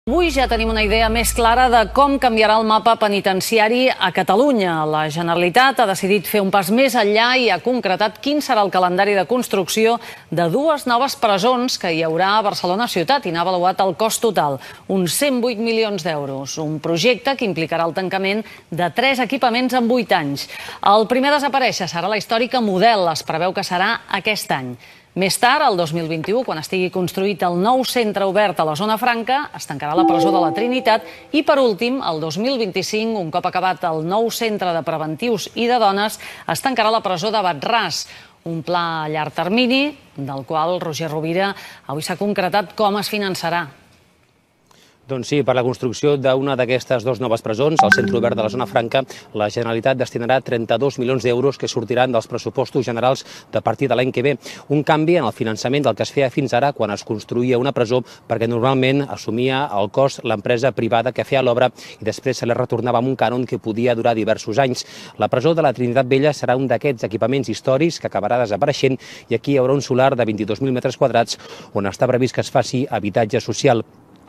Avui ja tenim una idea més clara de com canviarà el mapa penitenciari a Catalunya. La Generalitat ha decidit fer un pas més enllà i ha concretat quin serà el calendari de construcció de dues noves presons que hi haurà a Barcelona ciutat i n'ha avaluat el cost total, uns 108 milions d'euros. Un projecte que implicarà el tancament de 3 equipaments en 8 anys. El primer a desaparèixer serà la històrica Model, es preveu que serà aquest any. Més tard, el 2021, quan estigui construït el nou centre obert a la Zona Franca, es tancarà la presó de la Trinitat i, per últim, el 2025, un cop acabat el nou centre de preventius i de dones, es tancarà la presó de Bat-ras, un pla a llarg termini del qual Roger Rovira avui s'ha concretat com es finançarà. Doncs sí, per la construcció d'una d'aquestes dues noves presons, al centre obert de la Zona Franca, la Generalitat destinarà 32 milions d'euros que sortiran dels pressupostos generals de partir de l'any que ve. Un canvi en el finançament del que es feia fins ara quan es construïa una presó, perquè normalment assumia el cost l'empresa privada que feia l'obra i després se li retornava amb un cànon que podia durar diversos anys. La presó de la Trinitat Vella serà un d'aquests equipaments històrics que acabarà desapareixent i aquí hi haurà un solar de 22.000 metres quadrats on està previst que es faci habitatge social.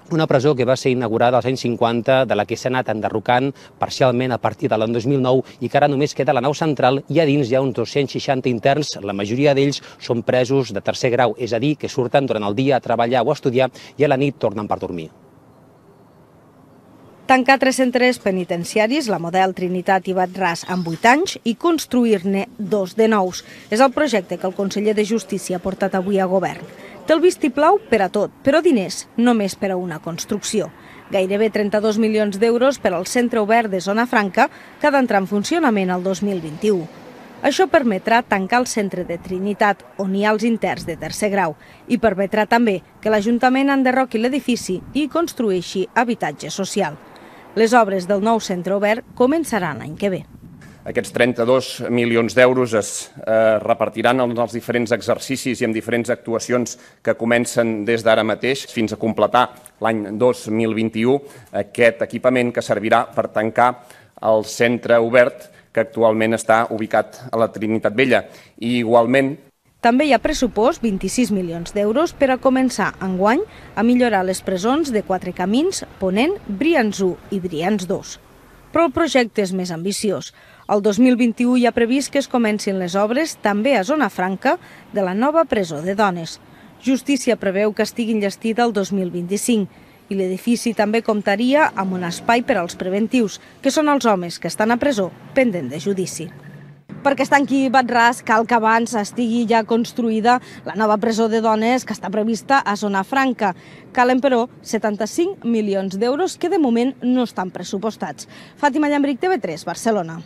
Una presó que va ser inaugurada als anys 50, de la que s'ha anat enderrocant parcialment a partir de l'any 2009 i que ara només queda la nau central i a dins hi ha uns 260 interns, la majoria d'ells són presos de tercer grau, és a dir, que surten durant el dia a treballar o a estudiar i a la nit tornen per dormir. Tancar 3 centres penitenciaris, la Model, Trinitat i Bat-ras, en 8 anys i construir-ne 2 de nous. És el projecte que el conseller de Justícia ha portat avui a govern. Té el vistiplau per a tot, però diners només per a una construcció. Gairebé 32 milions d'euros per al centre obert de Zona Franca que ha d'entrar en funcionament el 2021. Això permetrà tancar el centre de Trinitat, on hi ha els interns de tercer grau, i permetrà també que l'Ajuntament enderroqui l'edifici i construeixi habitatge social. Les obres del nou centre obert començaran l'any que ve. Aquests 32 milions d'euros es repartiran en els diferents exercicis i en diferents actuacions que comencen des d'ara mateix fins a completar l'any 2021 aquest equipament que servirà per tancar el centre obert que actualment està ubicat a la Trinitat Vella. I igualment, també hi ha pressupost 26 milions d'euros per a començar enguany a millorar les presons de Quatre Camins, Ponent, Brians 1 i Brians 2. Però el projecte és més ambiciós. El 2021 hi ha previst que es comencin les obres també a Zona Franca de la nova presó de dones. Justícia preveu que estigui enllestida el 2025 i l'edifici també comptaria amb un espai per als preventius, que són els homes que estan a presó pendent de judici. Perquè es tanqui Bat-ras cal que abans estigui ja construïda la nova presó de dones que està prevista a Zona Franca. Calen, però, 75 milions d'euros que de moment no estan pressupostats. Fàtima Llambric, TV3, Barcelona.